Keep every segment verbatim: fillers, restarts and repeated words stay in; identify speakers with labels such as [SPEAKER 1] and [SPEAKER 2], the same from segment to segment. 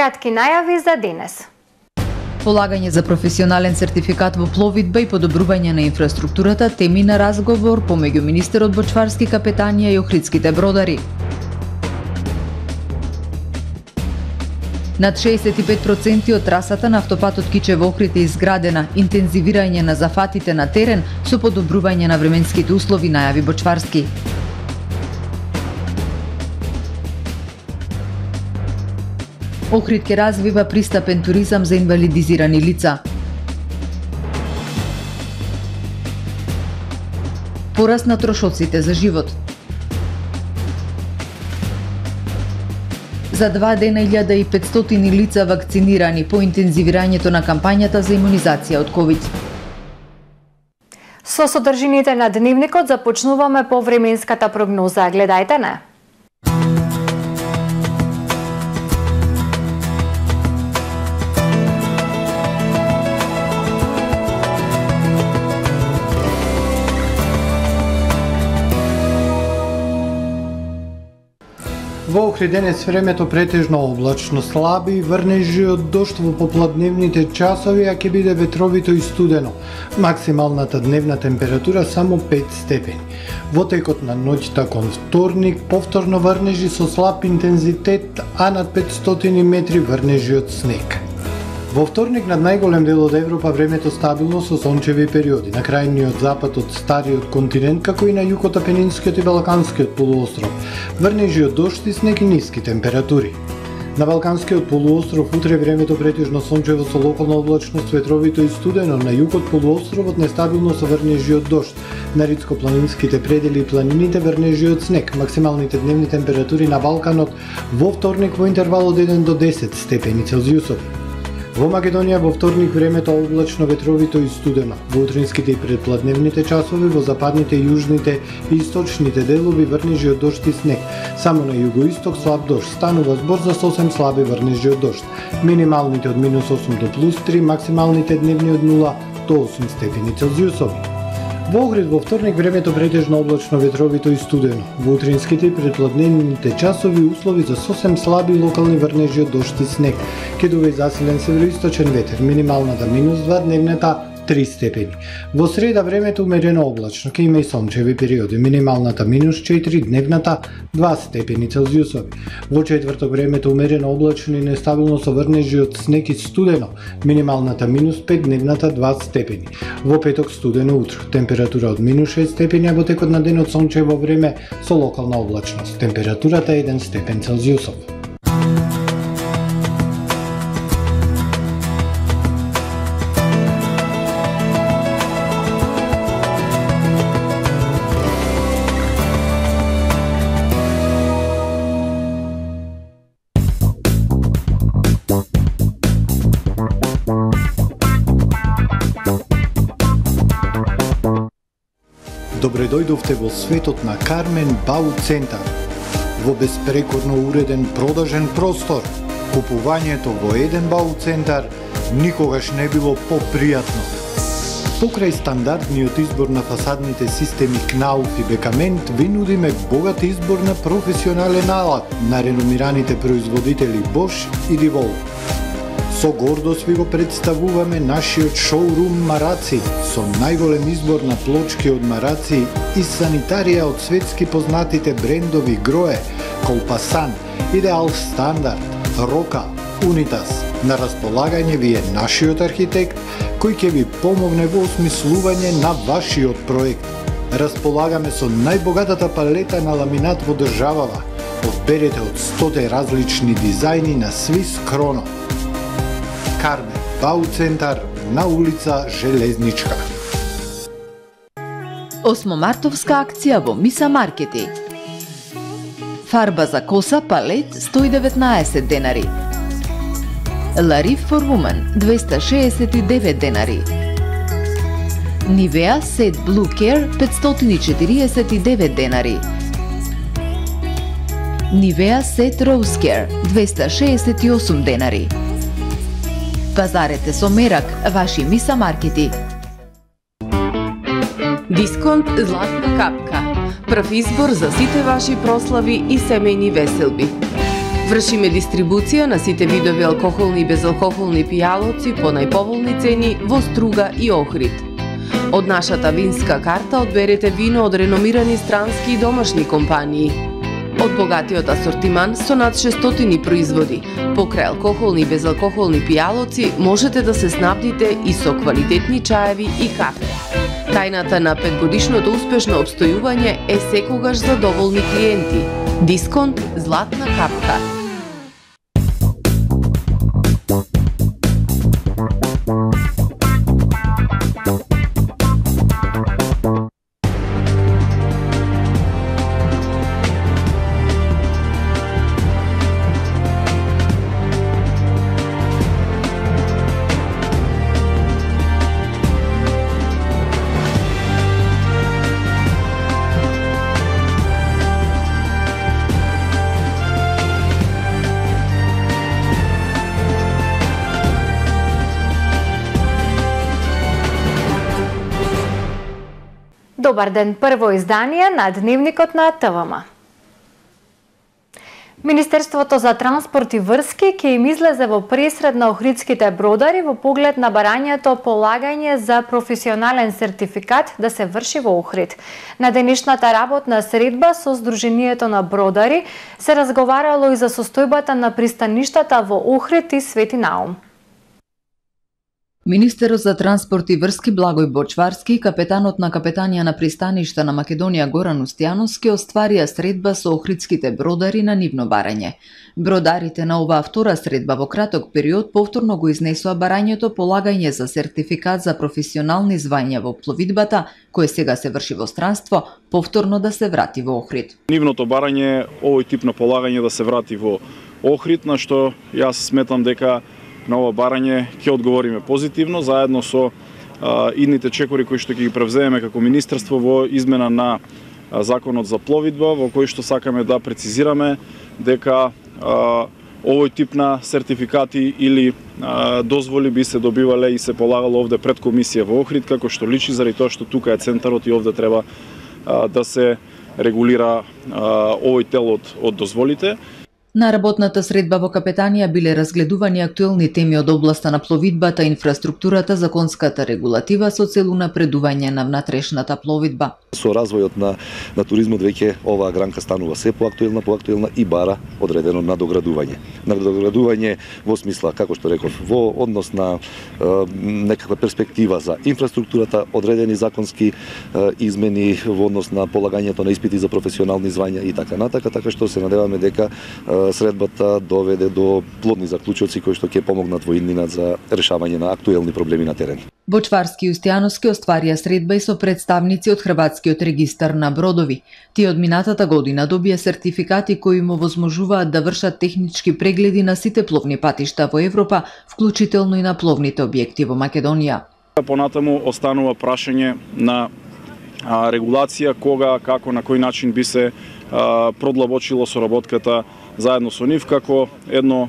[SPEAKER 1] Кратки најави за денес.
[SPEAKER 2] Полагање за професионален сертификат во пловидба и подобрување на инфраструктурата теми на разговор помеѓу министерот Бочварски, капетанија и охридските бродари. Над шеесет и пет проценти од трасата на автопатот Кичево-Охрид е изградена, интензивирање на зафатите на терен со подобрување на временските услови, најави Бочварски. Охрид ќе развива пристапен туризам за инвалидизирани лица. Пораст на трошоците за живот. За два дена илјада и петстотини лица вакцинирани по интензивирањето на кампањата за имунизација од ковид.
[SPEAKER 1] Со содржините на дневникот започнуваме по временската прогноза. Гледајте не.
[SPEAKER 3] Во Охрид денес времето претежно облачно, слаби врнежи од дожд во попладневните часови, а ќе биде ветровито и студено. Максималната дневна температура само пет степени. Во текот на ноќта кон вторник повторно врнежи со слаб интензитет, а над петстотини метри врнежи од снег. Во вторник над најголем дел од Европа времето стабилно со сончеви периоди. На крајниот запад од стариот континент, како и на југот, Апенинскиот и Балканскиот полуостров, врнежи од дожд и снег и ниски температури. На Балканскиот полуостров утре времето претежно сончево со локална облачност, ветровито и студено, на југот полуостровот нестабилно со врнежи од дожд. На ридско-планинските предели и планините врнежи од снег. Максималните дневни температури на Балканот во вторник во интервал од еден до десет степени Целзиусови. Во Македонија во вторник времето облачно, ветровито и студено. Во утринските и предпладневните часови во западните, јужните и источните делови врнежи од дожд и снег. Само на југоисток слаб дожд. Станува збор за сосем слаби врнежи од дожд. Минималните од минус осум до плюс три, максималните дневни од нула до осум степени Целзиусови. Во Охрид во вторник времето претежно облачно, ветровито и студено. Во утринските и предпладневните часови услови за сосем слаби локални врнежи од дожд и снег. Ќе дуva и засилен североисточен ветер, минималната минус два, дневната три степени. Во среда времето умерено облачно, ќе има и сончеви периоди, минималната минус четири, дневната два степени Целзиусови. Во четврток времето умерено облачно и нестабилно со врнежи од снег и студено, минималната минус пет, дневната два степени. Во петок студено утро, температура од минус шест степени, а во текот на денот сончево време со локална облачност, температурата еден степен Целзиусов. Добре дојдовте во светот на Кармен Бау Центар. Во безпрекорно уреден продажен простор, купувањето во еден Бау Центар никогаш не било попријатно. Покрај стандардниот избор на фасадните системи Кнауф и Бекамент, ви нудиме богат избор на професионален алат на реномираните производители Bosch и Divol. Со гордост ви го представуваме нашиот шоурум Мараци, со најголем избор на плочки од Мараци и санитарија од светски познатите брендови Грое, Колпасан, Идеал Стандард, Рока, Унитас. На располагање ви е нашиот архитект, кој ќе ви помогне во осмислување на вашиот проект. Располагаме со најбогатата палета на ламинат во државава. Одберете од сто различни дизајни на Свис Кроно. Кармен Бау Центар на улица Железничка.
[SPEAKER 2] Осмомартовска акција во Миса Маркети. Фарба за коса палет сто и деветнаесет денари. Лариф for Woman двеста шеесет и девет денари. Nivea Set Blue Care петстотини и четириесет и девет денари. Nivea Set Rose Care двеста шеесет и осум денари. Пазарете со мерак, ваши Миса Маркети.
[SPEAKER 4] Дисконт Златна капка. Прв избор за сите ваши прослави и семејни веселби. Вршиме дистрибуција на сите видови алкохолни и безалкохолни пијалоци по најповолни цени во Струга и Охрид. Од нашата винска карта одберете вино од реномирани странски и домашни компании. Од богатиот асортиман со над шестстотини производи, покрај алкохолни и безалкохолни пијалоци, можете да се снабдите и со квалитетни чаеви и кафе. Тајната на петгодишното успешно обстојување е секогаш задоволни клиенти. Дисконт Златна капка.
[SPEAKER 1] Добар ден, прво издание на Дневникот на ТВМ. Министерството за транспорт и врски ќе им излезе во пресред на охридските бродари во поглед на барањето полагање за професионален сертификат да се врши во Охрид. На денешната работна средба со Сдруженијето на бродари се разговарало и за состојбата на пристаништата во Охрид и Свети Наум.
[SPEAKER 2] Министерот за транспорт и врски Благој Бочварски и капетанот на капетанија на пристаништа на Македонија Горан Устјановски остварија средба со охридските бродари на нивно барање. Бродарите на оваа втора средба во краток период повторно го изнесоа барањето полагање за сертификат за професионални звања во пловидбата, кое сега се врши во странство, повторно да се врати во Охрид.
[SPEAKER 5] Нивното барање, овој тип на полагање да се врати во Охрид, на што јас сметам дека на ова барање ќе одговориме позитивно, заедно со а, идните чекори кои што ќе ги превземеме како Министерство во измена на а, Законот за пловидба, во кој што сакаме да прецизираме дека а, овој тип на сертификати или а, дозволи би се добивале и се полагало овде пред комисија во Охрид, како што личи заради тоа што тука е центарот и овде треба а, да се регулира а, овој дел од, од дозволите.
[SPEAKER 2] На работната средба во капетанија биле разгледувани актуелни теми од областа на пловидбата, инфраструктурата, законската регулатива со цел напредување на внатрешната пловидба.
[SPEAKER 6] Со развојот на, на туризмот веќе оваа гранка станува се поактуелна, поактуелна и бара одредено надоградување. Надоградување во смисла, како што реков, во однос на е, некаква перспектива за инфраструктурата, одредени законски е, измени во однос на полагањето на испити за професионални звања и така натака, така што се надеваме дека е, средбата доведе до плодни заклучоци кои што ќе помогнат во иднина за решавање на актуелни проблеми на терен.
[SPEAKER 2] Бочварски и Устјановски остварија средба и со представници од Хрватскиот регистар на бродови. Тие од минатата година добија сертификати кои им овозможуваат да вршат технички прегледи на сите пловни патишта во Европа, вклучително и на пловните објекти во Македонија.
[SPEAKER 5] Понатаму останува прашање на а, регулација кога, како, на кој начин би се а, продлабочило соработката заедно со нив како едно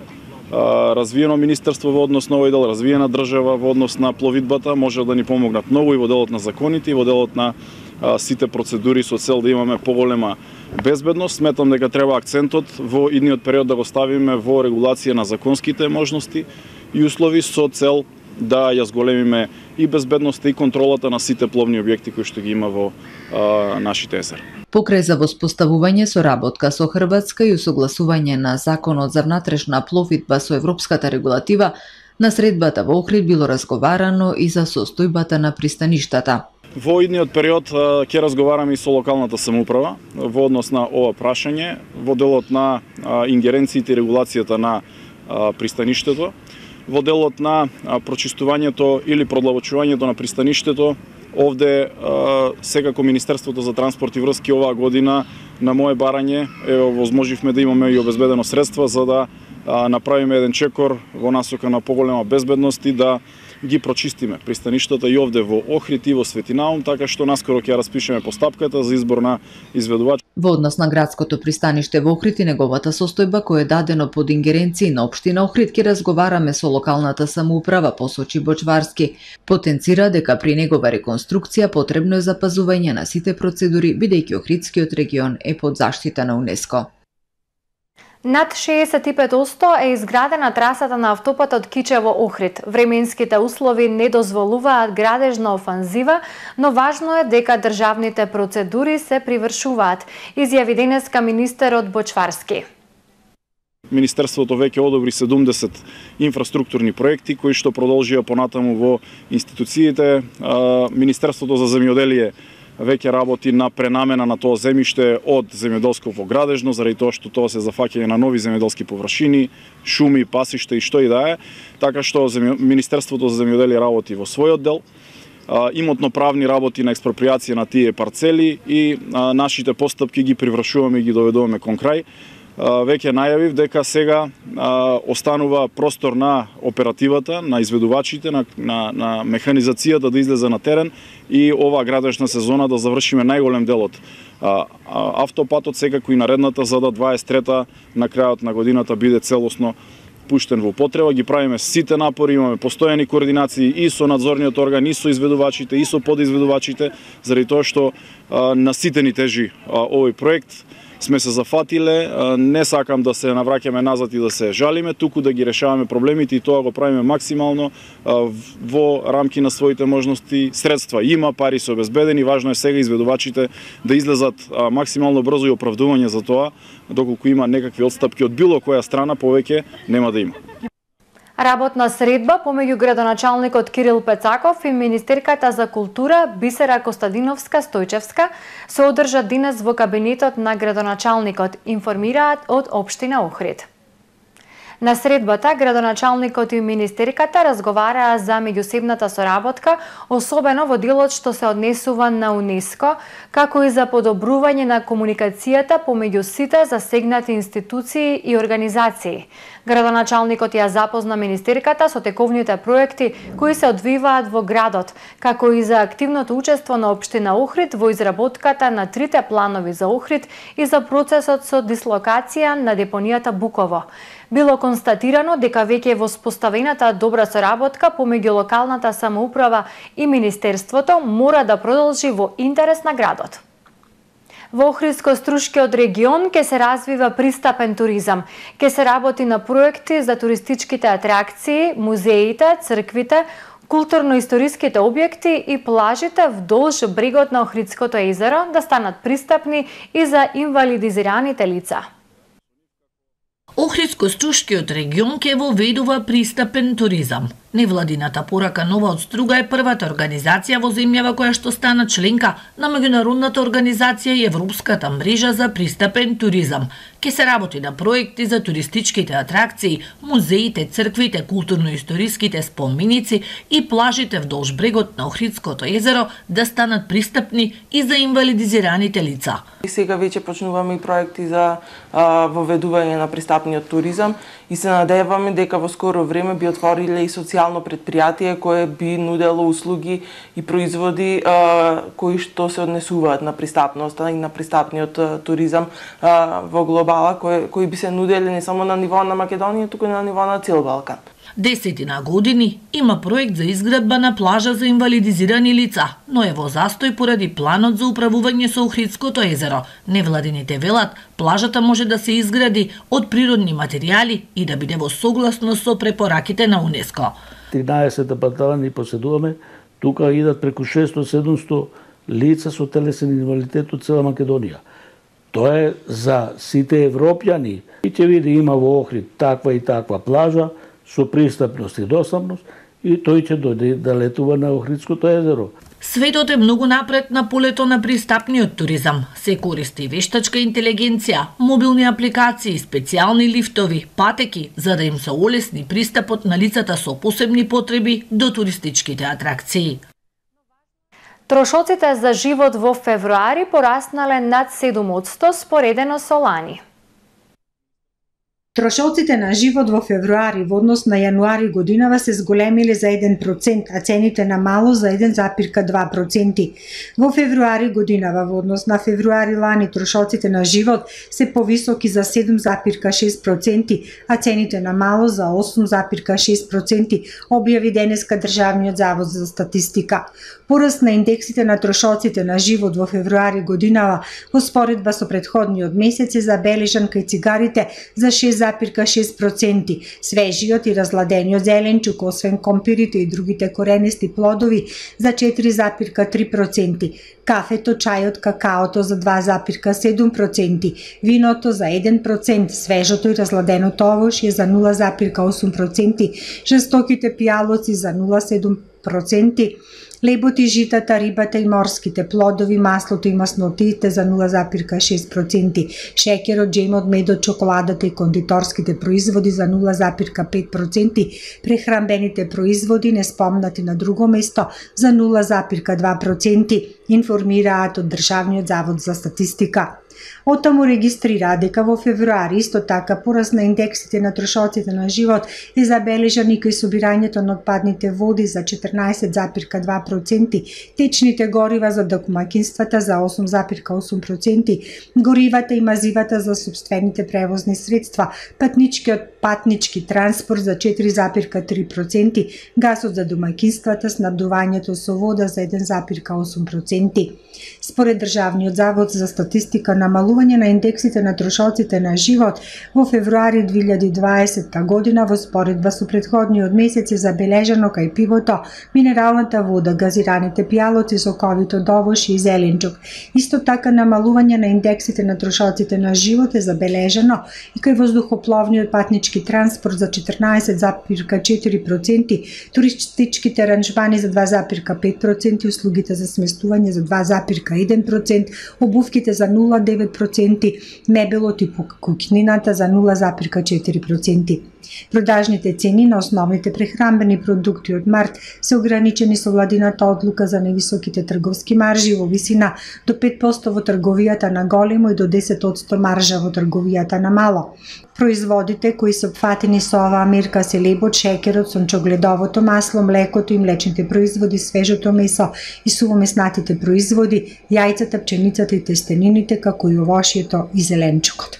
[SPEAKER 5] а, развиено министерство во однос на овој дел, развиена држава во однос на пловидбата, може да ни помогнат многу и во делот на законите, и во делот на а, сите процедури со цел да имаме поголема безбедност. Сметам дека треба акцентот во идниот период да го ставиме во регулација на законските можности и услови со цел да ја зголемиме и безбедноста и контролата на сите пловни објекти кои што ги има во а, нашите езера.
[SPEAKER 2] Покрај за воспоставување соработка со Хрватска и усогласување на Законот за внатрешна пловидба со европската регулатива, на средбата во Охрид било разговарано и за состојбата на пристаништата.
[SPEAKER 5] Во идниот период ќе разговараме и со локалната самоуправа во однос на ова прашање, во делот на ингеренциите и регулацијата на пристаништето, во делот на прочистувањето или продлабочувањето на пристаништето. Овде секако Министерството за транспорт и врски оваа година на моје барање ево возможивме да имаме и обезбедено средства за да направиме еден чекор во насока на поголема безбедност и да ги прочистиме пристаништата и овде во Охрид и во Свети Наум, така што наскоро ќе ја распишеме постапката за избор на изведувач.
[SPEAKER 2] Во однос на градското пристаниште во Охрид и неговата состојба кој е дадено под ингеренција на општина Охрид, ќе разговараме со локалната самоуправа, посочи Бочварски. Потенцира дека при негова реконструкција потребно е запазување на сите процедури, бидејќи Охридскиот регион е под заштита на УНЕСКО.
[SPEAKER 1] Над шеесет и пет одсто е изградена трасата на автопатот Кичево-Охрид. Временските услови не дозволуваат градежна офанзива, но важно е дека државните процедури се привршуваат, изјави денеска министерот Бочварски.
[SPEAKER 5] Министерството веќе одобри седумдесет инфраструктурни проекти кои што продолжија понатаму во институциите. Министерството за земјоделие веќе работи на пренамена на тоа земјиште од земјоделско во градежно, заради тоа што тоа се зафаќање на нови земјоделски површини, шуми, пасишта и што и да е, така што Министерството за земјоделие работи во својот дел, имотно-правни работи на експроприација на тие парцели и нашите постапки ги привршуваме и ги доведуваме кон крај. Веќе најавив дека сега а, останува простор на оперативата, на изведувачите, на, на, на механизацијата да излезе на терен и оваа градежна сезона да завршиме најголем дел од а, а, автопатот, секако и наредната, за да дваесет и трета на крајот на годината биде целосно пуштен во употреба. Ги правиме сите напори, имаме постојани координации и со надзорниот орган, и со изведувачите, и со подизведувачите, заради тоа што а, на сите ни тежи а, овој проект. Сме се зафатиле, не сакам да се навраќаме назад и да се жалиме, туку да ги решаваме проблемите и тоа го правиме максимално во рамки на своите можности. Средства има, пари се обезбедени, важно е сега изведувачите да излезат максимално брзо и оправдување за тоа, доколку има некакви отстапки од било која страна, повеќе нема да има.
[SPEAKER 1] Работна средба помеѓу градоначалникот Кирил Пецаков и министерката за култура Бисера Костадиновска-Стојчевска се одржа денес во кабинетот на градоначалникот, информираат од општина Охрид. На средбата, градоначалникот и министерката разговараа за меѓусебната соработка, особено во делот што се однесува на УНЕСКО, како и за подобрување на комуникацијата помеѓу сите засегнати институции и организации. Градоначалникот ја запозна министерката со тековните проекти кои се одвиваат во градот, како и за активното учество на општина Охрид во изработката на трите планови за Охрид и за процесот со дислокација на депонијата Буково. Било констатирано дека веќе е воспоставената добра соработка помеѓу локалната самоуправа и министерството мора да продолжи во интерес на градот. Во Охридско-Струшкиот регион ќе се развива пристапен туризам. Ќе се работи на проекти за туристичките атракции, музеите, црквите, културно-историските објекти и плажите вдолж брегот на Охридското езеро да станат пристапни и за инвалидизираните лица.
[SPEAKER 7] Охридско-Струшкиот регион ќе воведува пристапен туризам. Невладината порака Нова од Струга е првата организација во земјава која што стана членка на меѓународната организација и Европската мрежа за пристапен туризам. Ке се работи на проекти за туристичките атракции, музеите, црквите, културно-историските споменици и плажите вдолж брегот на Охридското езеро да станат пристапни и за инвалидизираните лица.
[SPEAKER 8] И сега веќе почнуваме и проекти за а, воведување на пристапниот туризам и се надеваме дека во скоро време би отвориле и социјално предпријатие кое би нудело услуги и производи а, кои што се однесуваат на пристапноста и на пристапниот а, туризам а, во глобала, кои, кои би се нудели не само на ниво на Македонија, туку и на ниво на цел Балкан.
[SPEAKER 7] Десетина години има проект за изградба на плажа за инвалидизирани лица, но е во застој поради планот за управување со Охридското езеро. Невладините велат, плажата може да се изгради од природни материјали и да биде во согласност со препораките на УНЕСКО.
[SPEAKER 9] тринаесет патала ни поседуваме, тука идат преку шестоста до седумсто лица со телесен инвалидитет од цела Македонија. Тоа е за сите европјани. И ќе види има во Охрид таква и таква плажа, со пристапност и достапност, и тој ќе дојде да летува на Охридското езеро.
[SPEAKER 7] Светот е многу напред на полето на пристапниот туризам. Се користи вештачка интелигенција, мобилни апликации, специјални лифтови, патеки, за да им се олесни пристапот на лицата со посебни потреби до туристичките атракции.
[SPEAKER 1] Трошоците за живот во февруари пораснале над седум одсто споредено со лани.
[SPEAKER 10] Трошоците на живот во февруари во однос на јануари годинава се зголемиле за еден процент, а цените на мало за еден запирка два проценти. Во февруари годинава во однос на февруари лани трошоците на живот се повисоки за седум запирка шест проценти, а цените на мало за осум запирка шест проценти, објави денеска Државниот завод за статистика. Пораст на индексите на трошоците на живот во февруари годинава во споредба со претходниот месец е забележан кај цигарите за шест запирка шест проценти, свежиот и разладениот зеленчук, освен компирите и другите коренисти плодови за четири запирка три проценти, кафето, чајот, какаото за два запирка седум проценти, виното за еден процент, свежото и разладеното овошје за нула запирка осум проценти, жестоките пијалоци за нула запирка седум проценти, лебот и житата, рибата и морските плодови, маслото и маснотиите за нула запирка шест проценти, шеќерот, джемот, медот, чоколадата и кондиторските производи за нула запирка пет проценти, прехранбените производи неспомнати на друго место за нула запирка два проценти, информираат од Државниот завод за статистика. Оттаму регистрираа дека во февруари исто така пораст на индексите на трошоците на живот е забележан и кај собирањето на отпадните води за четрнаесет запирка два проценти, течните горива за домаќинствата за осум запирка осум проценти, горивата и мазивата за сопствените превозни средства, патничкиот патнички транспорт за четири запирка три проценти, гасот за домаќинствата, снабдувањето со вода за еден запирка осум проценти. Според Државниот завод за статистика, намалување на индексите на трошоците на живот во февруари две илјади и дваесетта година во споредба со претходниот месец е забележано кај пивото, минералната вода, газираните пијалоци, соковито овошје и зеленчук. Исто така намалување на индексите на трошоците на живот е забележано и кај воздухопловниот патнички транспорт за четрнаесет запирка четири проценти, туристичките аранжмани за два запирка пет проценти, услугите за сместување за два запирка еден процент, обувките за нула запирка девет проценти, мебелот и куќнината за нула запирка четири проценти. Продажните цени на основните прехранбени продукти од март се ограничени со владината одлука за невисоките трговски маржи во висина до пет проценти во трговијата на големо и до десет проценти маржа во трговијата на мало. Производите кои се опфатени со оваа мерка се лебот, шеќерот, сончогледовото масло, млекото и млечните производи, свежото месо и сувомеснатите производи, јајцата, пченицата и тестенините, како и овошјето и зеленчукот.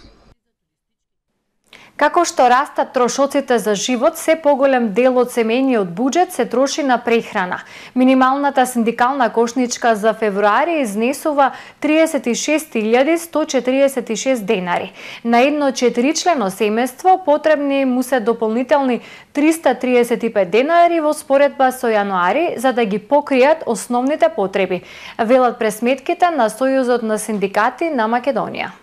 [SPEAKER 1] Како што растат трошоците за живот, се поголем дел од семејниот буџет се троши на прехрана. Минималната синдикална кошничка за февруари изнесува триесет и шест илјади сто четиридесет и шест денари. На едно четиричлено семејство потребни му се дополнителни триста триесет и пет денари во споредба со јануари за да ги покријат основните потреби, велат пресметките на Сојузот на синдикати на Македонија.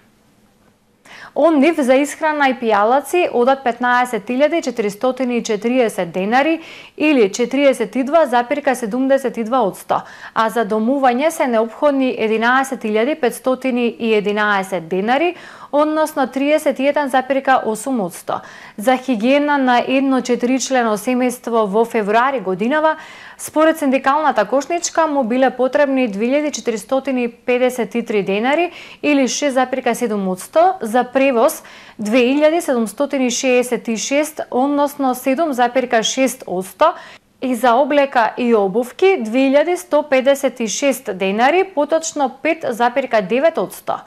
[SPEAKER 1] Он нив за исхрана и пијалаци одат петнаесет илјади четиристотини и четириесет денари или четириесет и два запирка седумдесет и два одсто, а за домување се неопходни единаесет илјади петстотини и единаесет денари, односно триесет и еден запирка осум одсто. За хигиена на едно четиричлено семејство во февруари годинава, според синдикалната кошничка му биле потребни две илјади четиристотини педесет и три денари или шест запирка седум одсто, за превоз две илјади седумстотини шеесет и шест, односно седум запирка шест одсто, и за облека и обувки две илјади сто педесет и шест денари, поточно пет запирка девет одсто.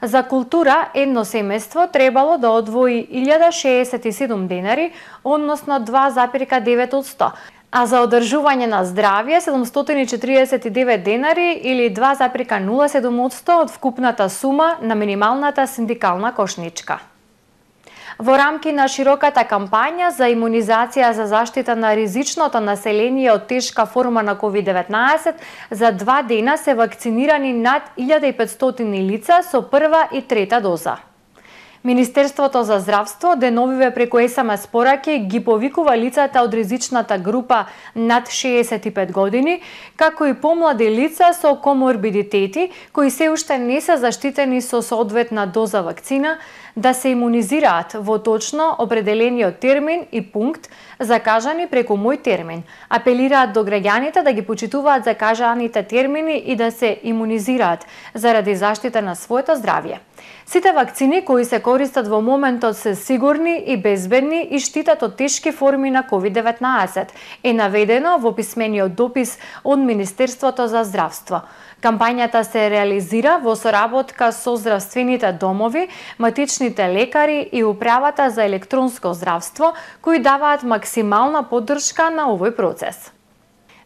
[SPEAKER 1] За култура едно семејство требало да одвои илјада шеесет и седум денари, односно два запирка девет одсто, а за одржување на здравје седумстотини четириесет и девет денари или два запирка нула седум одсто од вкупната сума на минималната синдикална кошничка. Во рамки на широката кампања за имунизација за заштита на ризичното население од тешка форма на ковид деветнаесет, за два дена се вакцинирани над илјада и петстотини лица со прва и трета доза. Министерството за здравство деновиве преку ес ем ес пораки ги повикува лицата од ризичната група над шеесет и пет години, како и помлади лица со коморбидитети кои се уште не се заштитени со соодветна доза вакцина, да се имунизираат во точно определениот термин и пункт, закажани преку мој термин. Апелираат до граѓаните да ги почитуваат закажаните термини и да се имунизираат заради заштита на своето здравје. Сите вакцини кои се користат во моментот се сигурни и безбедни и штитат од тешки форми на ковид деветнаесет, е наведено во писмениот допис од Министерството за здравство. Кампањата се реализира во соработка со здравствените домови, матичните лекари и Управата за електронско здравство, кои даваат максимална поддршка на овој процес.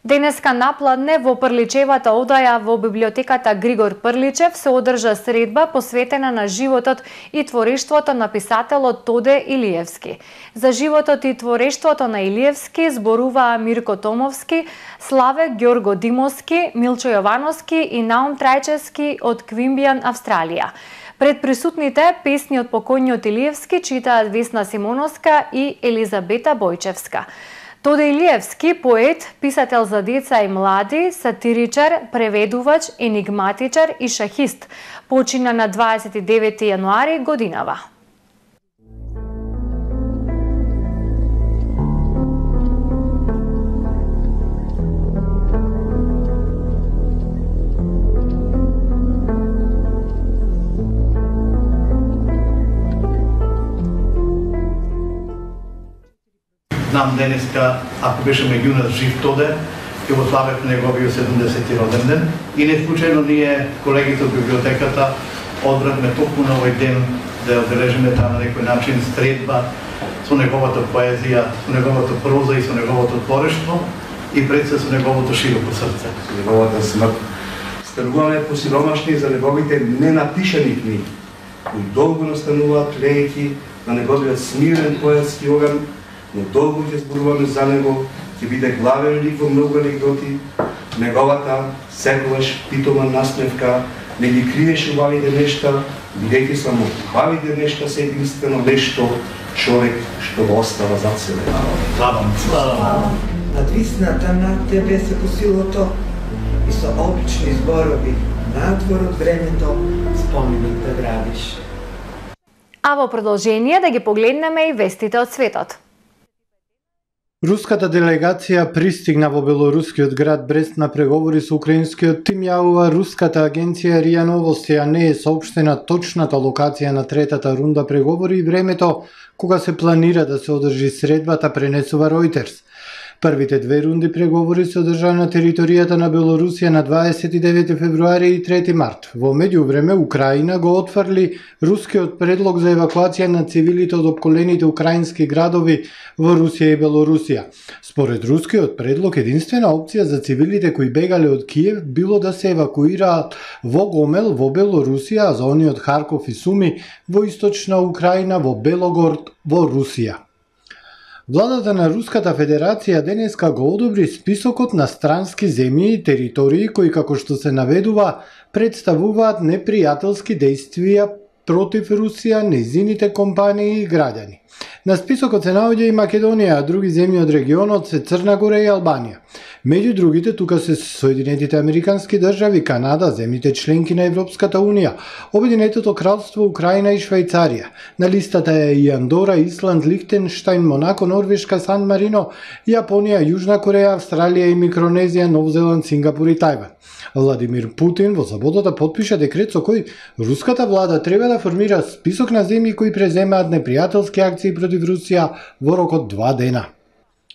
[SPEAKER 1] Денеска напладне во Прличевата одаја во библиотеката Григор Прличев се одржа средба посветена на животот и творештвото на писателот Тоде Илиевски. За животот и творештвото на Илиевски зборуваа Мирко Томовски, Славе Ѓорго Димовски, Милчо Јовановски и Наум Трајчевски од Квимбијан, Австралија. Пред присутните песни од покојниот Илиевски читаат Весна Симоновска и Елизабета Бојчевска. Тоде Илиевски, поет, писател за деца и млади, сатиричар, преведувач, енигматичар и шахист, почина на дваесет и девети јануари годинава.
[SPEAKER 11] Знам денеска, ако беше меѓу нас жив Тоде, ќе го славев неговиот седумдесети роден ден. И не случајно ние, колегите од библиотеката, одбравме токму на овој ден да ја одбележиме таа на некој начин средба со неговата поезија, со неговата проза и со неговото творештво и пред се со неговото широко срце.
[SPEAKER 12] Со неговата смрт. Стануваме посиромашни за неговите ненапишани книги, кои долго настануваат лејки на неговиот смирен поетски оган, но долго ќе зборуваме за него, ќе биде главен лик во многу анегдоти. Неговата, секогаш питома насмевка, не ги криеше убавите нешта, бидејќи само убавите нешта се единствено нешто, човек што го остава зад себе.
[SPEAKER 11] Слава му.
[SPEAKER 13] Надвисната над тебе се по силото и со обични зборови надвор од времето споменик да градиш.
[SPEAKER 1] А во продолжение да ги погледнеме и вестите од светот.
[SPEAKER 3] Руската делегација пристигна во белорускиот град Брест на преговори со украинскиот тим, јавува руската агенција РИА Новости, а не е соопштена точната локација на третата рунда преговори и времето кога се планира да се одржи средбата, пренесува Reuters. Првите две рунди преговори се одржаа на територијата на Белорусија на дваесет и девети февруари и трети март. Во меѓувреме, Украина го отфрли рускиот предлог за евакуација на цивилите од опколените украински градови во Русија и Белорусија. Според рускиот предлог, единствена опција за цивилите кои бегале од Киев било да се евакуираат во Гомел, во Белорусија, а за они од Харков и Суми во источна Украина, во Белогород, во Русија. Владата на Руската Федерација денеска го одобри списокот на странски земји и територии кои, како што се наведува, представуваат непријателски дејствија против Русија, нејзините компании и граѓани. На списокот се наоѓа и Македонија, а други земји од регионот се Црна Гора и Албанија. Меѓу другите тука се Соединетите Американски држави, Канада, земјите членки на Европската Унија, Обединетото кралство, Украина и Швајцарија. На листата е и Андора, Исланд, Лихтенштајн, Монако, Норвешка, Сан Марино, Јапонија, Јужна Кореја, Австралија и Микронезија, Нов Зеланд, Сингапур и Тајван. Владимир Путин во саботата потпиша декрет со кој руската влада треба да формира список на земји кои преземаат непријателски акции против Русија во рок од два дена.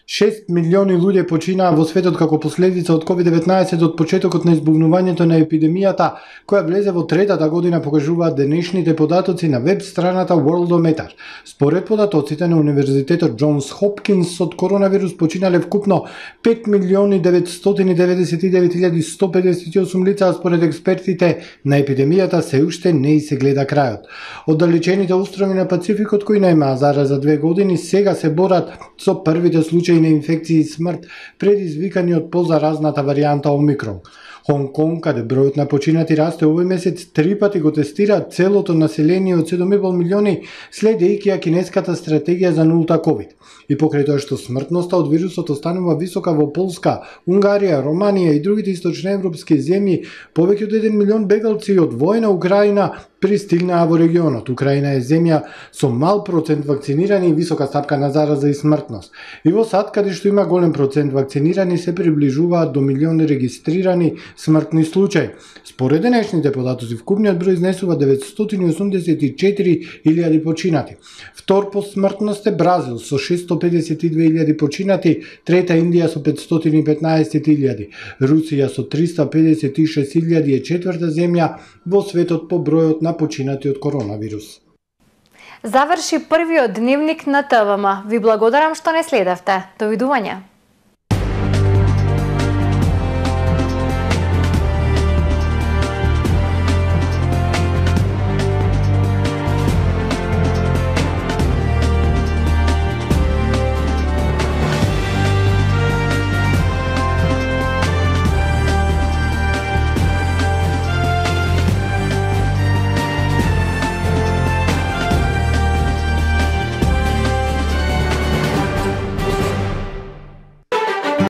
[SPEAKER 3] шест милиони луѓе починаа во светот како последица од ковид деветнаесет од почетокот на избухнувањето на епидемијата, која влезе во третата година, покажуваат денешните податоци на веб страната Worldometer. Според податоците на Универзитетот Џонс Хопкинс, од коронавирус починале вкупно пет милиони деветстотини деветдесет и девет илјади сто педесет и осум лица, а според експертите на епидемијата се уште не и се гледа крајот. Оддалечените острови на Пацификот кои немаа зараза две години сега се борат со првите случаи на инфекција и смрт предизвикани од позаразната варијанта Омикрон. Хонг Конг, каде бројот на починати расте овој месец, три пати го тестираат целото население од седум и пол милиони, следејќи ја кинеската стратегија за нулта ковид. И покрај тоа што смртноста од вирусот останува висока во Полска, Унгарија, Романија и другите источноевропски земји, повеќе од еден милион бегалци од војна Украина пристигнаа во регионот. Украина е земја со мал процент вакцинирани и висока стапка на зараза и смртност. И во САД, каде што има голем процент вакцинирани, се приближуваат до милион регистрирани смртни случаи. Според денешните податоци, вкупниот број изнесува деветстотини и осумдесет и четири илјади починати. Втор по смртност е Бразил со шестстотини педесет и две илјади починати, трета Индија со петстотини и петнаесет илјади, Русија со триста педесет и шест илјади е четврта земја во светот по бројот на починати од коронавирус.
[SPEAKER 1] Заврши првиот дневник на ТВМ. Ви благодарам што не следевте. Довидување.